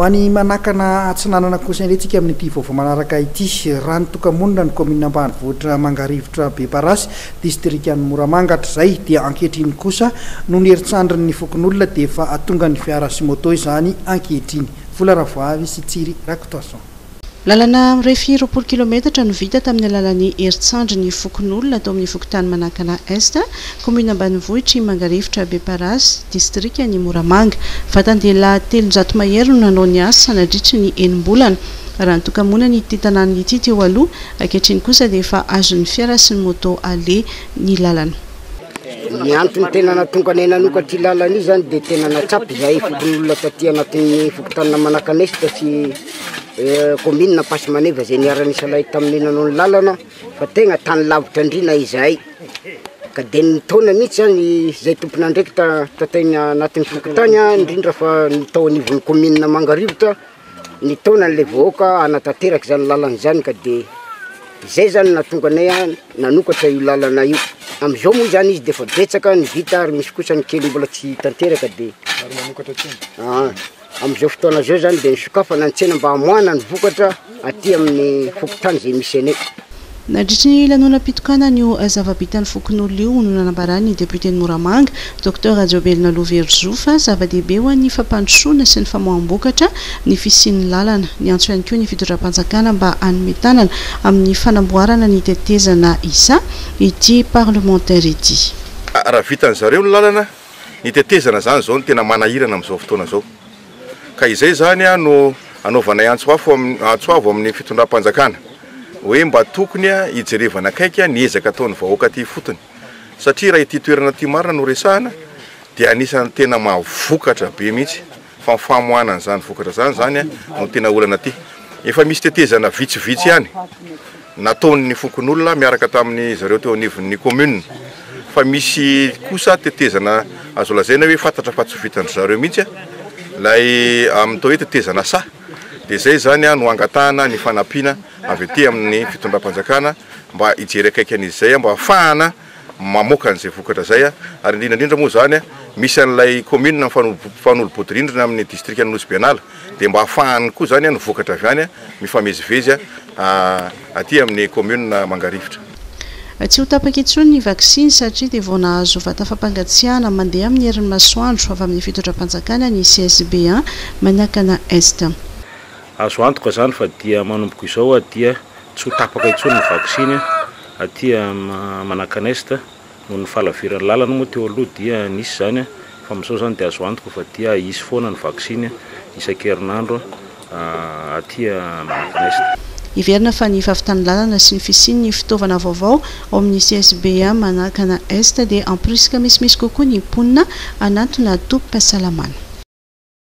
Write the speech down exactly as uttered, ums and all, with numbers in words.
Ho any Manakana Atsinanana kosa indray tsika amin'ity vaovao manaraka ity. Raha nitoka-monina ny kaominina ambanivohitra Mangarivotra Beparasy, distrikan'i Moramanga hatrizay, dia ankehitriny kosa noho ny herin-tsandrin'ny fokonolona dia efa tonga ny fiara sy moto izany ankehitriny. Vola Ravoavy sy Tsiry Rakotoason. Lalana mirefy roapolo kilometatra no vita tamin'ny alalan'ny herin-tsandry ny fokonolona tao amin'ny fokontany Manakana Est, kaominina ambanivohitry Mangarivotra Beparasy, distrikan'i Moramanga. Vatan-dehilahy telonjato mahery no nanao ny asa nandritry ny enim-bolana. Raha nitoka-monina ity tanàna ity teo aloha, ankehitriny kosa dia efa azon'ny fiara sy ny moto aleha ny lalana. Ny antony tena nahatonga anay nanoka ity lalana io zany dia tena natsapy izahay fokonolona taty anatin'ny fokontany Manakana Est sy commune Ampasimaneva izay niara-nisalahy taminay nanao ny lalana, fa tegna tany lavitra indrindra izahay. Ka dia nitaona mihitsy zany izay tompon'andraikitra tatay anatin'ny fokontany, indrindra fa ny tao anivon'ny commune Mangarivotra, nitaona an'ilay vahoaka hanatanteraka izany lalana izany, ka dia izay zany nahatonga anay nanokatra io lalana io. Amin'izao moa zany izy dia efa betsaka ny vita ary misy kosa ny kely mbola tsy tanteraka, dia amin'izao fotoana izao zany dia nisokafana ny tsena mba hamoahana ny vokatra aty amin'ny fokontany izay misy anay. Nandritry ny lanonam-pitokanana io zava-bitan'ny fokonolona io no nanambaran'ny député Moramanga, Docteur Rajaobelina Loverozo, fa zava-dehibe ho an'ny fampandrosoana sy ny famoaham-bokatra ny fisian'ny lalana. Niantso ihany koa ny fitondram-panjakana mba hanome tanana amin'ny fanamboarana ny tetezana isa ity parlementaire ity. Raha vitan'ny zareo ny lalana, ny tetezana zany zao no tena manahirana amin'izao fotoana izao. Ka izay zany a no anaovanay antso afo amin'ny antso avo amin'ny fitondram-panjakana hoe mba tokony a hijerevana akaiky ny ezaka ataon'ny vahoaka aty ifotony, satria raha ity toerana ity marina no resahana dia anisan'ny tena mahavokatra be mihitsy, fa ny famoahana an'izany vokatra zany zany a no tena olana aty. Efa misy tetezana vitsivitsy ihany nataon'ny fokonolona miaraka tamin'ny zareo teo anivon'ny commune, fa misy kosa tetezana azo lazaina hoe fantatra fa tsy vitan-dry zareo mihitsy a, lay amin'ny atao hoe tetezana saha. Dia izay zany a no angatahana ny fanampiana avy aty amin'ny fitondram-panjakana mba hijery akaiky an'izy izay, mba ahafahana mamoaka an'izay vokatra izay a. Ary indrindra indrindra moa zany a misy an'ilay commune mifanolo-bodirindrina amin'ny distrikan'i Nosy Be Anala, dia mba ahafahany koa zany a ny vokatra avy any a mifamezivezy a aty amin'ny commune Mangarivotra. Tsy ho tapaka intsony ny vaksiny satria dia vao nahazo vata fampangatsiahana mandeha amin'ny herin'ny masoandro avy amin'ny fitondram-panjakana ny C S B un Manakana Est. Azo antoka zany fa dia manomboka izao dia tsy ho tapaka intsony ny vaksiny aty Manakana Est. Noho ny fahalaviran'ny lalana moa teo aloha dia nisy zany, fa amin'izao zany dia azo antoka fa dia hisy foana ny vaksiny isan-kerinandro aty Manakana Est. Heverina fa ny fahavitan'ny lalana sy ny fisian'ny fitaovana vaovao ao amin'ny C S B un Manakana Est dia hampirisika misimisy kokoa ny mponina hanatona tobim-pahasalamana.